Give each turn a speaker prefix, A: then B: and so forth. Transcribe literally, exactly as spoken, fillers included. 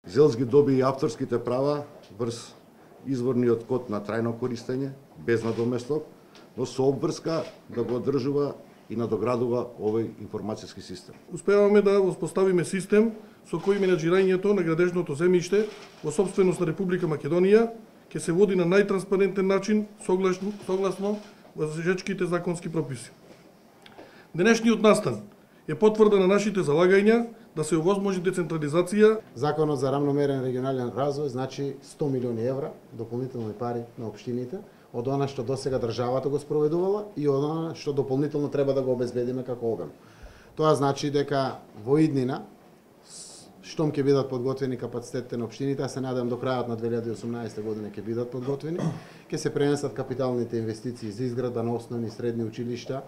A: Зелс ги доби и авторските права врз изворниот код на трајно користење, без надоместок, но со обврска да го одржува и надоградува овој информацијски систем.
B: Успеваме да воспоставиме систем со кој менаџирањето на градежното земјиште во сопственост на Република Македонија ќе се води на најтранспарентен начин согласно, согласно важечките законски прописи. Денешниот настан е потврда на нашите залагања да се овозможи децентрализација.
C: Законот за рамномерен регионален развој значи сто милиони евра дополнителни пари на општините, од она што досега државата го спроведувала и од она што дополнително треба да го обезбедиме како обем. Тоа значи дека во иднина, штом ќе бидат подготвени капацитетите на општините, а се надевам до крајот на две илјади и осумнаесета година ќе бидат подготвени, ќе се пренесат капиталните инвестиции за изградба на основни и средни училишта,